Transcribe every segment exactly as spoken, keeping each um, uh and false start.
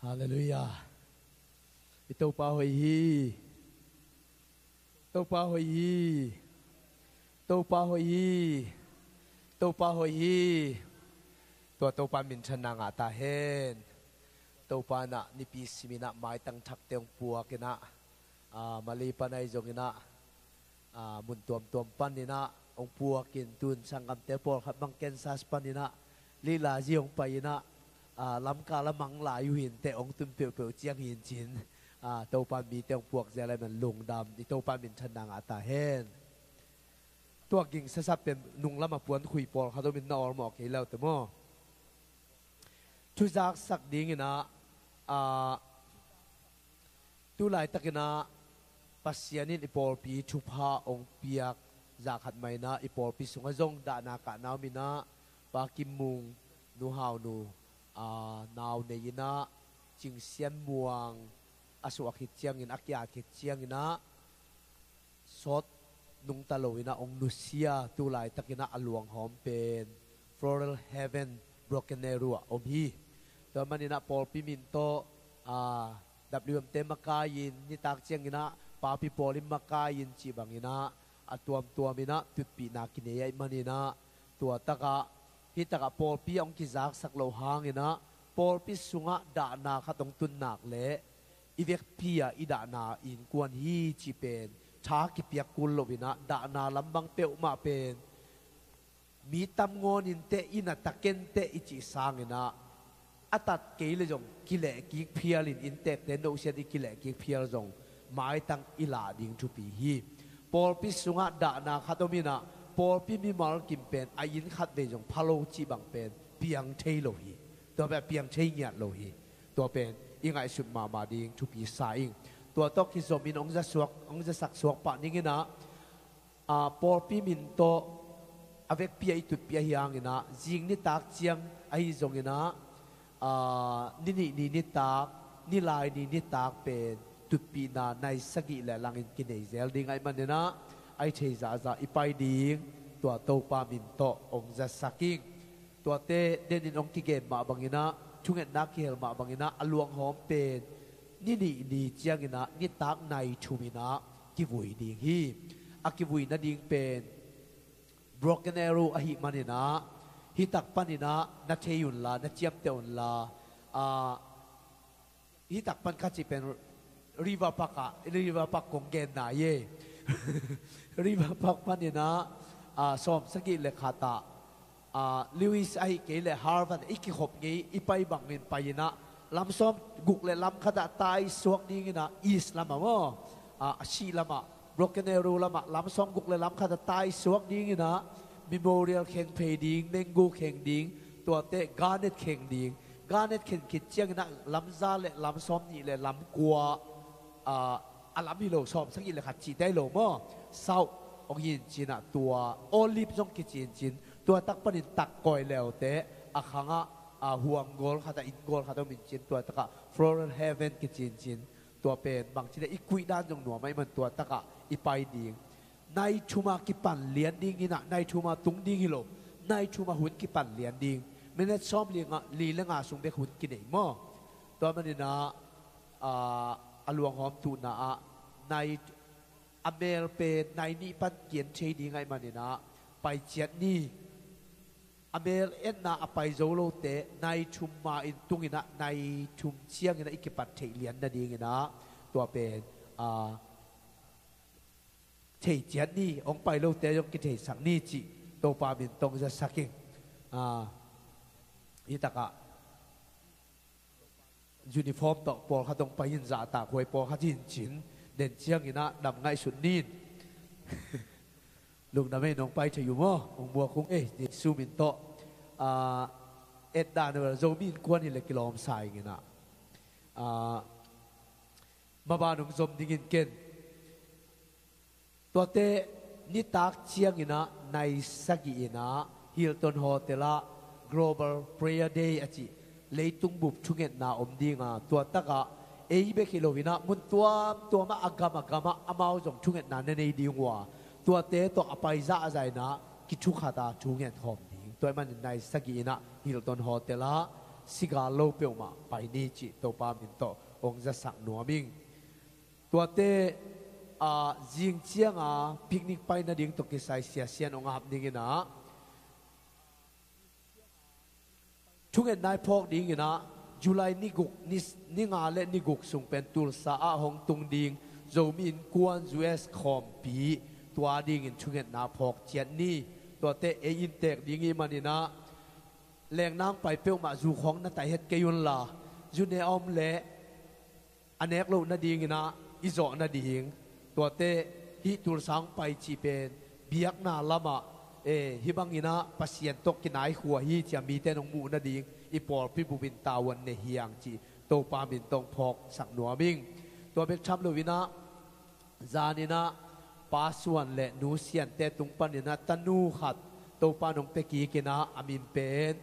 Halleluiah. I Topa hoih hi. Topa hoih hi. Topa hoih hi. Topa hoih hi. Tua Topa minthanna ngah ta hen. Topa in ah nipi simin ah maitang thakte hong puakin ah, ah, Malay pan ahi zongin ah, ah, mun tuamtuam panin ah hong puakin, tun sanggamte pawlkhat bang Kansas panin ah Lila zi hong pai in ah, ah, Lamka lam hong lai uh hi inteh, hong tun peuhpeuh ciang hi in cin, ah, Topa mite hong puak zel ahih man lungdam. I Topa minthanna ngah ta hen. Tua ging sasap pen nung lamah puankhui pawlkhat om in na awlmawh kei leute maw? Thuzaksak dingin ah, ah, tu laitakin ah Pasian in i pawlpi thupha hong piak zah khat mah in ah, i pawlpi sungah zong dahna kahna om in ah, Pa Kim Mung, Nu Hau Nu, aa, nau nei in ah, Cing Sian Muang a suah khit ciangin, a ki-at khit ciangin ah, sawt nungta lo in ah hong nusia, tu laitakin ah a luanghawm pen Floral Heaven, Broken Arrow ah om hi. Tua manin ah pawlpi min tawh, aa, W M te makai-in, nitak ciangin ah papi pawl in makai-in cih bangin ah, a tuamtuam in ah tutpihna kinei ahih manin ah, tua takah, hih takah pawlpi ah hong kizaksak loh hangin ah, pawlpi sungah dahna khat hong tun nak leh, i vekpi ah i dahna innkuan hi cih pen tha kipiak kul lo in ah, dahna lam bang peuhmah pen mi tam ngawn inteh, inn ah ta kei inteh i cih sangin ah, a tat kei leh zong kilehkik phial in, innteekte nohsiat i kilehkik phial zong maitang i lah ding thupi hi. Pawlpi sungah dahna khat om in ah, pawlpi mimal kim pen a inn khatvei zong pha lo cih bang pen piang thei lo hi. Tua pen a piang thei ngiat lo hi. Tua pen i ngaihsut mahmah ding thupi sa ing. Tua tawh kizom in hong za suak, hong zasak suak pah ning in ah, aa, pawlpi min tawh a vekpi ah i tutpih ahih hangin ah, zing nitak ciang ahi zongin ah, aa, ni nih ni nitak, ni lai ni nitak pen tutpihna nai sagih le langin kinei zel ding ahih manin ah, a i thei zahzah i pai ding, tua Topa min tawh hong zasak ing. Tuate denin hong kigen mah bangin ah, thungetna kihel mah bangin ah, a luanghawm pen ni nih ni ciangin ah, nitak nai thum in ah kivui ding hi. A kivui nading pen Broken Arrow ahih manin ah, hih tak panin ah na thei unla, na ciamteh unla, aa, hih tak pan kha cih pen River Park ah, River Park kong genna hi e. River Park panin ah, aa, sawm sagih le khat ah, aa, Lewis ahih kei leh Harvard i kikhop ngei i pai bangin pai in ah, lam sawm guk le lam khat ah tai suak dingin ah, east lamah maw, aa, a sih lamah, Broken Arrow lamah, lam sawm guk le lam khat ah tai suak dingin ah, Memorial kheng phei ding, Mango kheng ding, tuate Garnet kheng ding. Garnet khen khit ciangin ah lam za le lam sawm nih le lam kua, aa, a lam hi lo, sawm sagih le khat cihte hi lo maw. South hong hi in cin ah, tua Olive zong kici in cin, tua tak panin tak kawi leute, a khangah, aa, huang gawl khat ah, inn gawl khat ah om in cin, tua takah Floral Heaven kici in cin. Tua pen bangci le i kuih dan zong nuam ahih man tua takah i pai ding. Nai thum a kipan lian dingin ah, nai thum a tung ding hi lo. Nai thum a hun kipan lian ding. Minute sawm li nga, li le nga sung bek hun kinei maw. Tua manin ah, aa, a luanghawm tuhna ah, nai, a mel pen nai nih pan kian thei ding ahih manin ah, pai ciat ni. A mel etna a pai zo lote, nai thum ma in tung in ah, nai thum ciangin ah i kipat theih lian nadingin ah, tua pen, aa, thei ciat ni, hong pai lote zong kitheisak ni cih Topa min tawh hong zasak ing. Aa, hih takah uniform tawh pawlkhat hong pai in, zahtakhuai pawlkhat hi in cin, den ciangin ah dam ngaihsut ni in. Lungdam ei, nong pai thei uh maw, hong muak ung ei, Jesu min tawh. Aa, et dan uh, Zomi Innkuan hi leh kilawm sa ing in ah. Aa, maban hong zom dingin ken. Tuate nitak ciangin ah, nai sagih in ah, Hilton Hotel ah Global Prayer Day a cih leitung bup thungetna om ding a, tua takah ei bek hi lo in ah, mun tuamtuam ah, a gam a gam ah amau zong thungetna na nei ding uh a, tuate tawh a pai zahzah in ah kithukhat a thungen khawm ding. Tua ahih manin nai sagih in ah Hilton Hotel ah sigal lo peuhmah pai ni cih Topa min tawh hong zasak nuam ing. Tuate, ah, zing cianga picnic pai nading tawh kisai Sia Sian hong ap ning inah, thungetna i phawk ding inah, July ni guk, ni, ni nga le ni guk sung pen Tulsa ah hong tung ding Zomi Innkuan U S khawmpi, tua dingin thungetna phawk ciat ni. Tuate ei inntek ding ih man inah, leengnang pai peuhmah zu khawng na taih het kei unla, zu ne a om leh a nek loh nading inah i zawh nading, tuate hih Tulsa hong pai cih pen biakna lamah, eh, hih bang inah Pasian tawh kinaikhua hi ci-a mite in hong muh nading i pawlpi bupin tavuan ne hi hang cih Topa min tawh hong phawksak nuam ing. Tua bek tham lo inah, zan inah Pa Suan le Nu Siante tung pan inah tanu khat Topa in hong pia kik inah, a min pen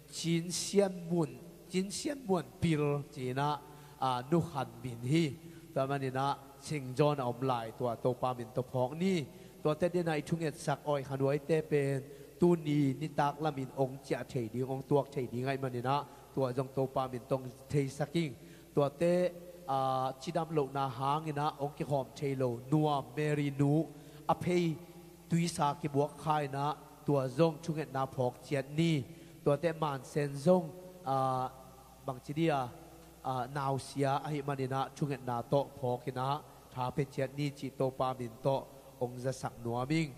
Cin Sian Mun, Cin Sian Muan Pil ci inah, ah, nu khat min hi. Tua man inah Saint John a om lai, tua Topa min tawh phawk ni. Tuate dingin ah i thungetsak awi khanuaite pen tuni nitak lamin hong ciah thei ding, hong tuak thei ding ahih man inah, tua zong Topa min tawh hong theisak ing. Tuate, ah, cidam lohna hang inah hong kikhawm thei lo nuam Mary nu a phei tuisa kibuak kha inah, tua zong thungetna phawk ciat ni. Tuate mansen zong, ah, bangci dia, ah, nausia ahih man inah thungetna tawh phawk inah tha pia ciat ni cih Topa min tawh hong zasak nuam ing.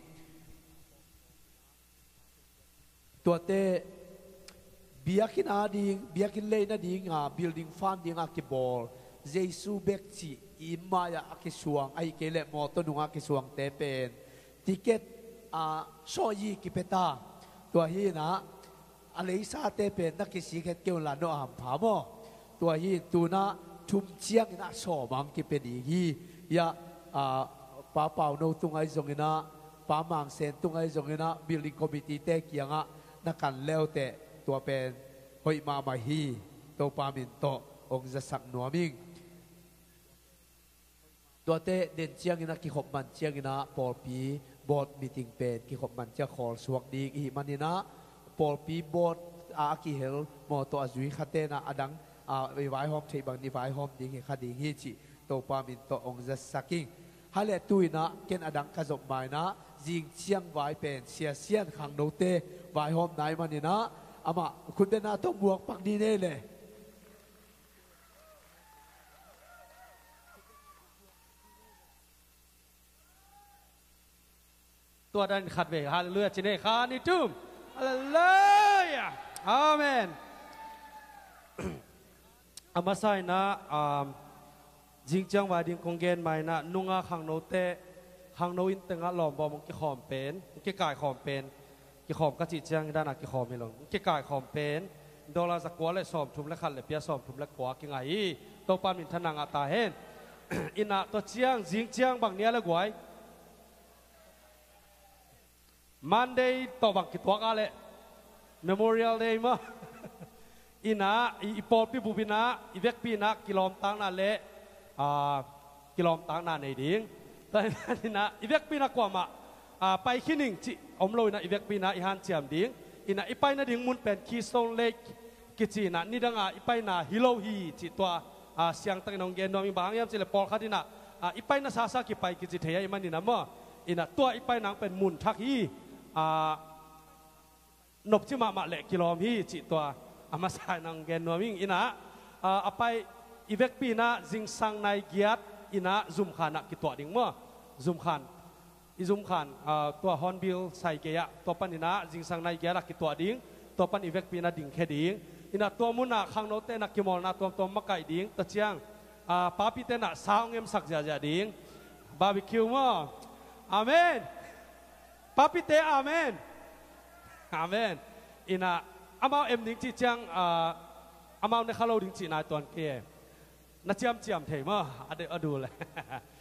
Tuate biakinn a ding, biakinn lei nadinga building fund dinga kibawl, Jesu bek cih i mai-ah a kisuang, ahih kei leh mawtaw nungah a kisuangte pen ticket, ah, sawh hi kipia ta. Tua hi inah, a leisate pen na kisik het kei unla, no a hampha maw? Tua hi in, tu inah thum ciang inah sawm a hong kipia ding hi. Hiah, ah, Pa Pauno tungah hi zong inah, Pa Mangsen tungah hi zong inah, building committee-te kiangah na kan le uh teh, tua pen hoih mahmah hi. Topa min tawh hong zasak nuam ing. Tuate den ciang inah, kikhop man ciang inah pawlpi board meeting pen kikhop man ciang khawl suak ding ihih man inah, pawlpi board a, a kihel mawtaw a zui khate inah a dang, ah, i vaihawm theih bangin i vaihawm ding hi kha ding hi cih Topa min tawh hong zasak ing. Hale, tu inah ken a dang ka zop ma inah, zing ciang vai pen Sia Sian khangnote vaihawmna ahih man inah, amah khutbetna tawh muak pak ni nei le. Tua dan khat vei, halleluiah ci nei, khat, nih, thum. Halleluiah. Amen. A masa inah, um, zing ciang vai ding kong gen ma inah, nunga khangnote, khangno inn tengah lawm bawm hong kikhawm pen, hong kikaikhawm pen, kikhawm ka cih ciang hi dan a kikhawm hi lo, hong kikaikhawm pen dollar za kua le sawmthum le khat le pia sawmthum le kua kingai hi. Topa min thang ngah ta hen. Inah tua ciang, zing ciang bang ni a le guai? Monday tawh bang kituak a leh? Memorial Day maw? Inah, i, i pawlpi bup inah, i vekpi inah kilawmtakna le, ah, kilawmtakna nei ding. Tua inah, i vekpi inah kuamah, ah, pai khin ing cih om lo inah, i vekpi inah i hanciam ding. Inah i pai nading mun pen Keystone Lake kici inah, nidanga i paina hi lo hi cih tua, ah, siangtakin hong gen nuam ing. Bang hang hiam cih leh pawlkhat inah, ah, i paina sasa kipai kici thei ahih man inah maw? Inah tua i paina pen mun thak hi, ah, nopci mahmah leh kilawm hi cih tua a masa inah hong gen nuam ing. Inah, ah, a pai, i vekpi inah zingsang nai giat inah Zumkhan ah kituah ding maw? Zumkhan, i Zumkhan, ah, tua Hornbill sai gei ah, tua pan inah zingsang nai giat ah kituah ding. Tua pan i vekpi inah dingkhia ding. Inah tua munah khangnote inah kimawlna tuamtuam makaih ding. Tua ciang, ah, papite inah sa hong emsak ziahziah ding. Barbecue maw? Amen. Papite, amen. Amen. Inah amau em ding cih ciang, ah, amau ne kha lo ding cih nai tuan kei e. Na ciamciam thei maw? A de, a du le.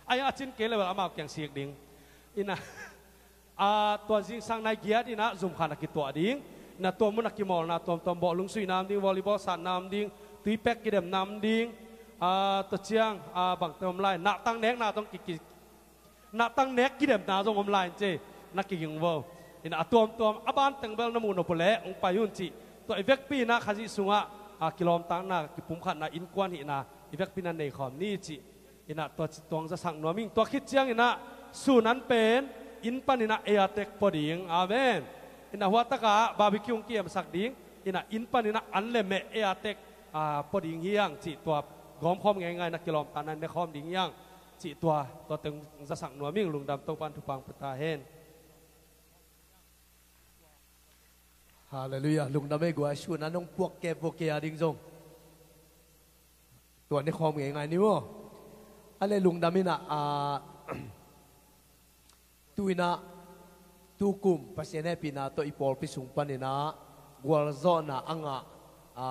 Ai, a cin kei le bel amau kiang sik ding. Inah, ah, tua zingsang nai giat inah Zumkhan ah kituah ding. Inah tua munah kimawlna tuamtuam, bawh lungsuihna om ding, volleyball satna om ding, tuipek kidemna om ding. Ah, tua ciang, ah, bangte om lai, nahtang nekna zong ki, ki, nahtang nek kidemna zong om lai in ci, na kiging vo. Inah a tuamtuam, a ban teng bel na muh nop uh leh hong pai un cih. Tua i vekpi inah Khazih sungah, a kilawmtatna, kipumkhatna, innkuan hihna i vekpi in a nei khawm ni cih in a tua ci tuang zasak nuam ing. Tua khit ciangin a Sunan pen inn panin a ei a tek pua ding. Amen. In a hua takah barbecue hong kiemsak ding, in a inn panin a an le meh ei a tek, a, pua ding hi hang cih tua gawmkhawm ngeingai in a kilawmtatna ne khawm ding hi hang cih tua, tua teng zasak nuam ing. Lungdam, Topan thupha pia ta hen. Halleluiah. Lungdam ei guai, Sunan hong puak kei, puak kei a ding zong tua ne khawm ngeingai ni maw. A le lungdam in a, a, tu in a, tu kum Pasian hehpihna tawh i pawlpi sung panin a gualzawhna a ngah, a,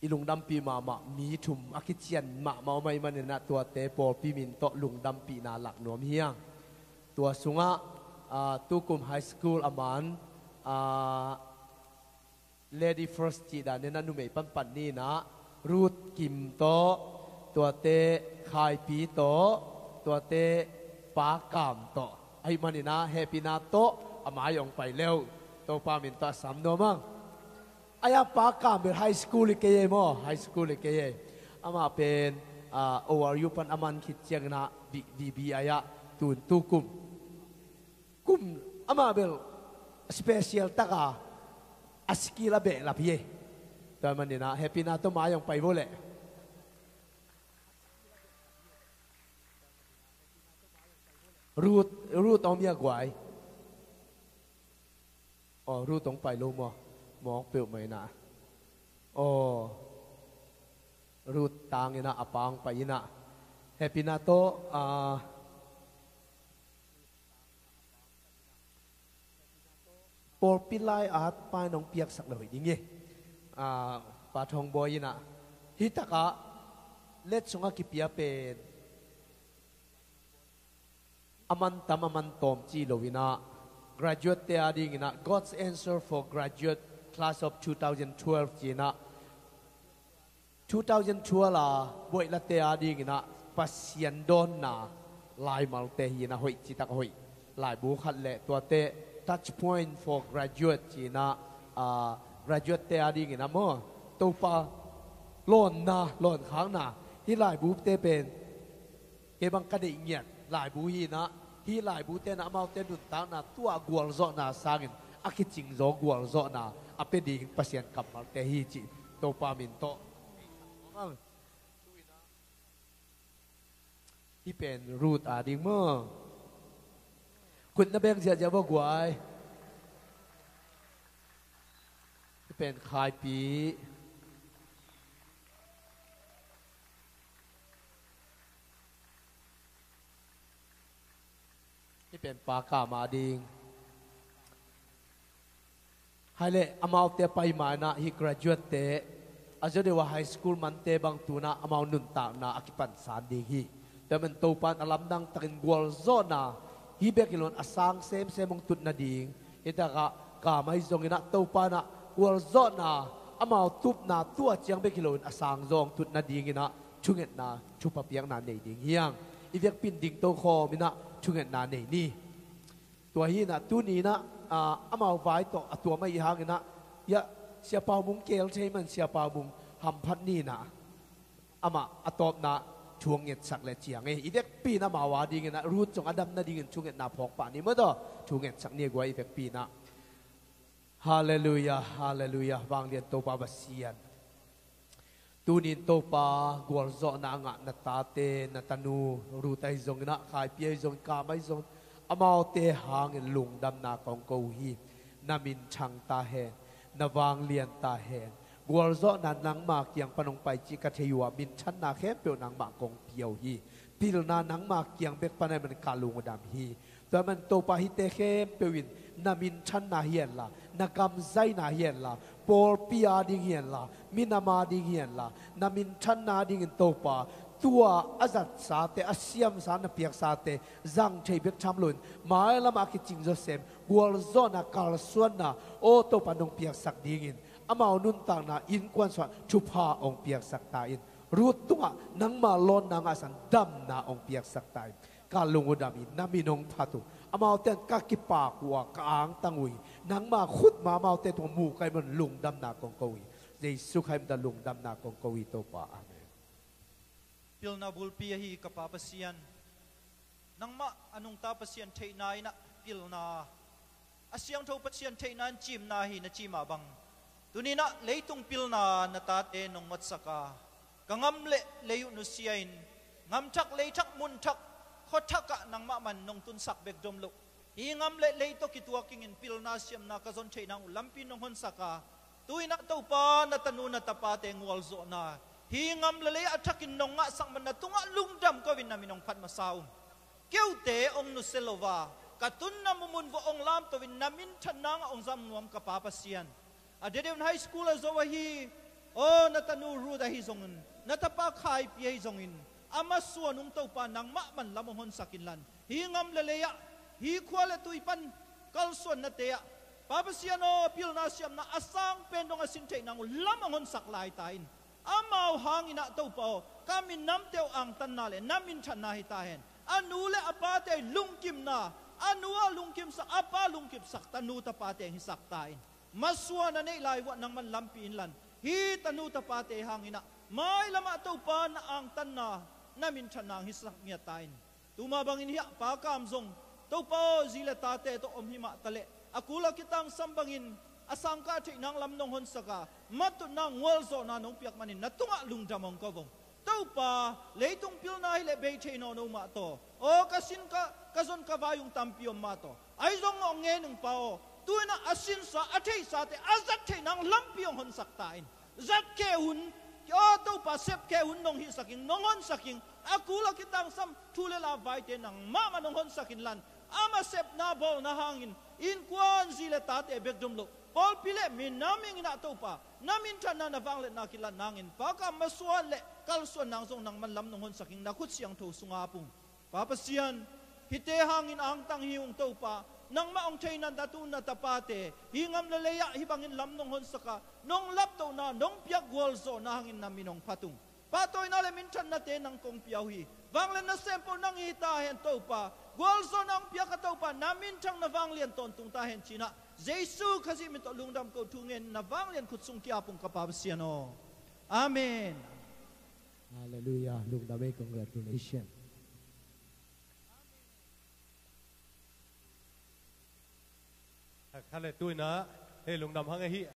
i lungdampih mahmah mi thum a kician mahmah om ahih manin a tuate pawlpi min tawh lungdampihna lak nuam hi hang. Tua sungah, a, tu kum high school a man, a, Lady First cih dan in a numei panpan ni in a Ruth Kim tawh, tuate Khaipi tawh, tuate Pa Kam tawh. Ahih manin a hehpihna tawh a mai hong pai le uh. Topa min tawh a sam nuam hang. Ahi a Pa Kam bel high school hi kei ei maw, high school hi kei ei. Amah pen, a, O R U pan a man khit ciangin a B-, B B I ah tun tu kum. Kum amah bel special taka a skill a behlap hi ei. Tua manin a hehpihna tawh mai hong pai vo leh. Ruth, Ruth om hia guai. Aw, Ruth hong pai lo maw? Mawk peuhmah in a. Aw, Ruth tang in a, a Pa hong pai in a. Hehpihna tawh, a, pawlpi lai-at Pa in hong piaksak le hoih ding hi. A, Pa Thawng Bawi in a. Hih takah let sungah kipia pen a man tam a man tawm ci lo in a, graduate te a ding in a, God's Answer for Graduate Class of two thousand twelve ci in a, two thousand twelve a buaihlate a ding in a Pasian dawnna laimalte hi in a, hoih citak hoih laibu khat le tuate Touch Point for Graduate ci in a, a, graduate te a ding in a maw, Topa lawnna, lawnkhakna, hih laibute pen kei bang ka deih ngiat laibu hi in a, hih laibute in a amaute nuntakna tua gualzawhna sangin a kicingzaw gualzawhna a pia ding Pasian kammalte hi cih Topa min tawh. Hih pen Ruth a ding maw. Khut na beng ziahziah vo guai. Hih pen Khaipi. Hih pen Pa Kam a ding. Hai leh amaute a pai ma in a hih graduate te, a zaw deuh a high school mante bang tu in a amau nuntakna a kipansan ding hi. Tua man Topa in a lamdang takin gualzawhna hih bek hi lo in a sang semsem hong tut nading. Hih takah Kam ahi zongin a Topa in a gualzawhna amau tupna tua ciang bek hi lo in a sang zaw hong tut nading in a thungetna thupha piakna nei ding hi hang. I vekpi in dingto khawm in a thungetna nei ni. Tua hi in a tuni in a, a, amau vai tawh a tuam ahih hangin a, ia, Sia Pau Mung kel thei man Sia Pau Mung hamphat ni in a, amah a tawpna thu hong ngetsak le ciang ei. I vekpi in amau a ding in a Ruth zong a dam nadingin thungetna phawk pah ni maw taw. Thu ngetsak ni a guai i vekpi in a. Halleluiah, halleluiah, vanglian Topa Pasian. Tuni in Topa, gualzawhna a ngah na tate, na tanu Ruth ahi zongin a, Khaipi ahi zongin, Kam ahi zongin, amaute hangin lungdamna kong ko uh hi. Na minthang ta hen, na vanglian ta hen. Gualzawhna nangma kiang pan hong pai cih ka thei uh a, minthanna khempeuh nangmah kong pia uh hi. Pilna nangma kiang bek pan ahih manin ka lung a dam hi. Tua man Topa, hihte khempeuh in na minthanna hi hen la, na gam zaina hi hen la, pawlpi a ding hi hen la, minam a ding hi hen la, na minthanna a dingin Topa, tua a zatsate, a siamsa, na piaksate zang thei bek tham loin mailam a kicing zawsem gualzawhna, kalsuanna, aw Topa, nong piaksak dingin amau nuntakna innkuan sungah thupha hong piaksak ta in. Ruth tungah nangma lawnna ngahsan damna hong piaksak ta in. ka lung uh dam hi, na min hong phat uh. Amaute in ka kipak uh a, ka angtang uh hi. Nangma khut mah amaute tungah mu ka hih manin lungdamna kong ko hi. Jesu Khazih min tawh lungdamna kong ko hi, Topa. Amen. Pilna bulpi ahi ka Pa Pasian, nangmah a nungta Pasian theihna in ah pilna, a siangtho Pasian theihna in cimna hi na cih mah bang, tuni in ah leitung pilna na tate nong ngotsak a, ka ngam le lei uh nusia-in, ngamthak leithak munthak, khuathak ah nangmah man nong tunsak bek dom loh, hih ngam le lei tawh kituak kingin pilna siamna ka zon theih nang uh lampi nong honsak a, tu-in ah Topa, na tanu na tapate gualzawhna, hih ngam le lei a thakin nong ngahsak man na tungah lungdam ko-in na min hong phat masa ung. Keute hong nusia lo a, ka tunna mumun vawh hong lamto-in na minthan nangah hong zam nuam ka Pa Pasian, a dedeun high school a zo ahi, aw, na tanu Ruth ahi zongin, na tapa Khaipi ahi zongin, a masuan ung Topa, nangmah man lam hong honsak inlan, hih ngam le lei ah, hih khua le tui pan kalsuannate ah, Pa Pasian aw, pilna siamna a sang pen dong a sin theih nang uh lam hong honsak lai ta in. Amau hangin ah Topa aw, ka minamte uh angtanna le na minthanna hi ta hen. A nu le a pate lungkimna, a nu a lungkimsak, a pa lungkimsak tanu tapate hong hisak ta in. Masuan a neih lai vuah nangman lampi inlan, hih tanu tapate hangin ah mailam ah Topa, na angtanna, na minthanna hong hisak ngiat ta in. Tuma bangin hiah Pa Kam zong, Topa aw, zi le tate tawh om hi mah taleh, a kul a kitangsam bangin a sangkah theih nang lam nong honsak a, matutna, gualzawhna nong piak manin na tungah lungdam hong ko vong. Topa, leitung pilna hileh bei thei nawn lo mah tawh, aw, ka sin ka, ka zon ka vai ung tampi om mah tawh, ahi zong hong ngen ung Pa aw. Tu-in ah a sinsa, a theihsate a zat theih nang lampi hong honsak ta in. Zat khe hun, aw Topa, sep khe hun nong hihsak ing, nong honsak ing. A kul a kitangsam thu le la vaite nangmah mah nong honsak inlan, ama sepna bawlna hangin innkuan, zi le tate bek dom loh, pawlpi le minam ing in ah Topa, na minthanna, na vangliatna kilat nangin Pa Kam masuan le kalsuan nang zong nangman lam nong honsak ing, na khut siangtho sungah ap ung. Pa Pasian, hihte hangin angtang hi ung Topa, nangmah hong theihna na tu na tapate hih ngam le lei ah hih bangin lam nong honsak a, nong laptohna, nong piak gualzawhna hangin na min hong phat ung. Pahtawina le minthannate nang kong pia uh hi. Vanglian nasem peuh nang hi ta hen Topa. Gualzawhna hong piak a Topa, na minthang, na vanglian tawntung ta hen ci-in ah Jesu Khazih min tawh lungdam ko, thu ngen, na vanglian khut sung ki-ap ung ka Pa Pasian aw. Amen. Halleluiah. Lungdam ei, congratulations. Kha le tu-in ah hei lungdam hang ahi,